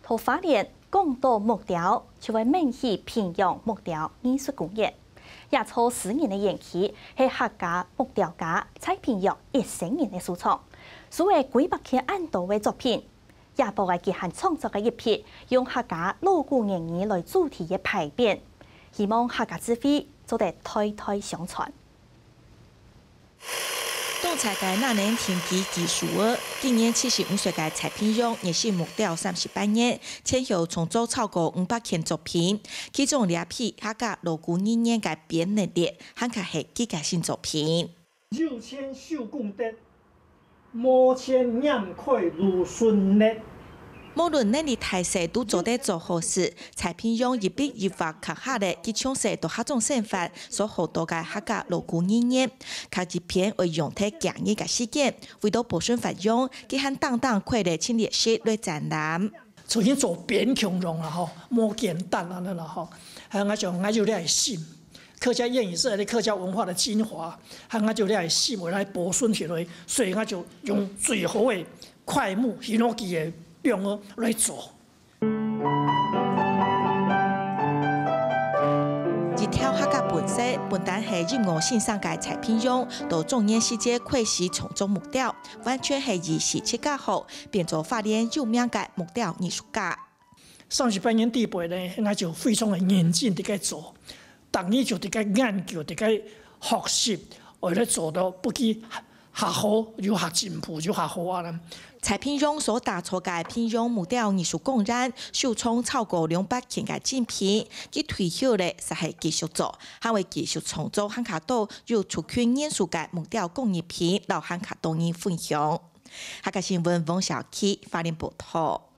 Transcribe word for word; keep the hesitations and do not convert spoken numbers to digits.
在花蓮講到木雕，就會愐起屏陽木雕藝術公園。這座私人个園區係客家木雕家蔡屏陽一生人个收藏，收了幾百件恁多个作品。這駁仔佢還創作了一批用客家老古言語來主題个牌匾，希望客家智慧做得代代相傳。 當在該那年定居居住个，今年七十五歲个蔡屏陽，熱心木雕三十八年，前後創作超過五百件作品，其中這批客家老古語言个匾額列，還較係佢个新作品。有錢手功得，無錢拈開蘆筍粒。無論能力大細，都做得做好事。蔡屏陽一筆一畫刻下了佢從細到客庄生活所學到个客家老古語言。 刻一片愛用忒幾日个時間，為到保存發揚，佢還單單開了陳列室來展覽。重新做匾共樣啦吼，無簡單安尼啦吼。還有𠊎想，𠊎有這个心，客家諺語是客家文化的精華，還有𠊎有這个心，我來保存起來，所以𠊎就用最好的檜木、hinoki的梁仔來做。 一條客家本色，本旦係音樂先生个蔡屏陽，到中年時節開始創作木雕，完全係一時自家好，變做花蓮有名个木雕藝術家。三十八年底背呢，𠊎就非常个認真佇該做，逐日就佇該研究，佇該學習，為了做到不止 較好，又較進步，又較好啊啦。蔡屏陽所打造个屏陽木雕藝術公園，收藏超過兩百件个精品，佢退休了，煞係繼續做，還會繼續創作還較多有族群元素个木雕工藝品，摎還較多人分享。客家新聞，王小琪，花蓮報導。